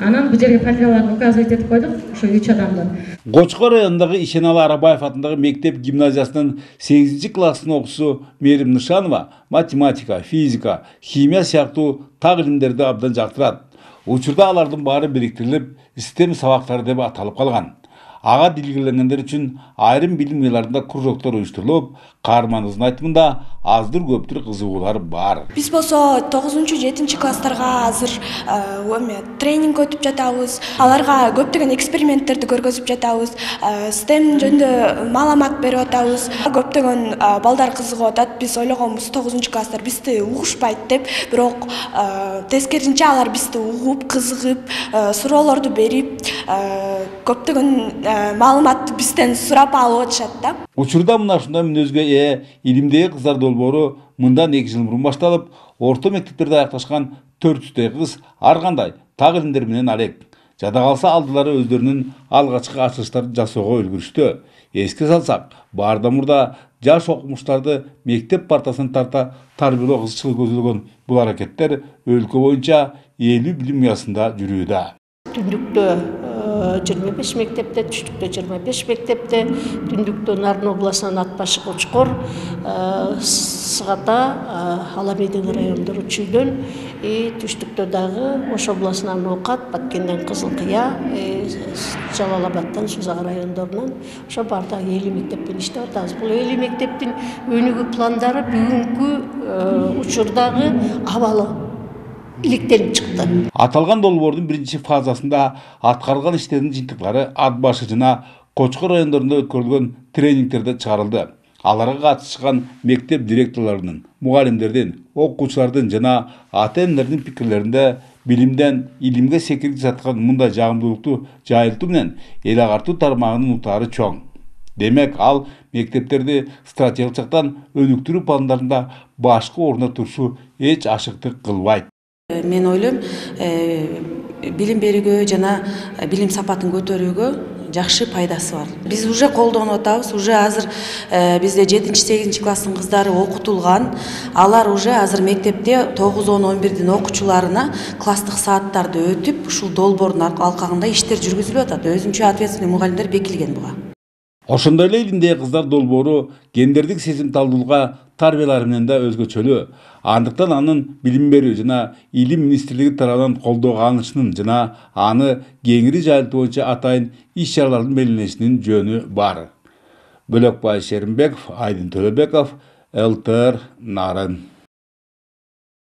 Анан бул жерге фамилияларын указывать этип койдук, ошо 3 адамды. Кочкор районундагы Ишеналы Арабаев атындагы мектеп гимназиясынын 8-класстын окуучусу Мерим Нышанова математика, физика, химия сыяктуу так илимдерди абдан жактырат. Учурда алардын баары бириктирилип, STEM сабактары деп аталып калган. Ага дилгирленгендер үчүн айрым билим уяларында кружоктор уюштурулуп, каарманыбыздын айтымында аздыр көптүр кызыгуулар бар. Биз болсо 9-7 класстарга азыр тренинг өтүп жатабыз. Аларга көптөгөн эксперименттерди көргөзүп жатабыз. STEM жөнүндө маалымат берип атабыз. Көптөгөн балдар кызыгып атат. Биз ойлогонбуз 9-класстар бизди угушпайт деп, бирок тескерисинче алар бизди угуп, кызыгып, суроолорду берип, көптөгөн маалыматты бизден сурап алып атышат да. Учурда мына ушундай мүнөзгө илимдеги кыздар долбоору мындан 2 жыл мурун башталып, орто мектептерде аякташкан 400 кыз ар кандай так илимдер менен алек. Жада калса алдылары өздөрүнүн алгачкы ачылыштарды жасоого үлгүрүштү. Эске салсак, баарда мурда жаш окумуштарды мектеп партасына тарта тарбиялоо кызыкчылыгы көзөлгөн бул аракеттер өлкө боюнча 50 билим уясында жүрүүдө. Түндүктө 25 мектепте, түштүктө 25 мектепте, түндүктө Нарын областынан Атбаш, Кочкор, Сыгата, Аламедин райондору Чүйдөн, түштүктө дагы Ош областынан Окат, Баткенден Кызылкыя, Жалал Абадтан Сузак райондорунан ошо баардыгы 50 мектеппен иштеп атабыз. Бул 50 мектептин өнүгүү пландары бүгүнкү учурдагы абалы иликтенип чыкты. Аталган долбоордун биринчи фазасында аткарылган иштердин жыйынтыктары Атбаш жана Кочкор райондорунда өткөрүлгөн тренингтерде чыгарылды. Аларга катышкан мектеп директорлорунун, мугалимдердин, окуучулардын жана ата-энелердин пикирлеринде билимден илимге секирип жаткан мындай жагымдуулукту жайылтуу менен эл агартуу тармагынын утаары чоң. Демек, ал мектептерди стратегиялык жактан өнүктүрүү пландарында башкы орунда турушу эч ашыктык кылбайт. Мен ойлойм, билим берүүгө жана билим сапатын көтөрүүгө жакшы пайдасы бар. Биз уже колдонуп атабыз, уже азыр бизде 7-8 класстын кыздары окутулган. Алар уже азыр мектепте 9-10-11 окуучуларына класстык сааттарды өтүп, ушул долбоордун алкагында иштер жүргүзүлүп атат. Өзүнчө ответственный мугалимдер бекилген буга. Ошондой эле илимдеги кыздар долбоору гендердик сезимталдуулукка тарбиялары менен да өзгөчөлүү. Андыктан анын билим берүү жана илим министрлиги тарабынан колдоого алынышынын жана аны кеңири жайылтуу боюнча атайын иш-чаралардын белгиленишинин жөнү бар. Бөлөкбай Шеримбеков, Айдын Төлөбеков, ЛТР Нарын.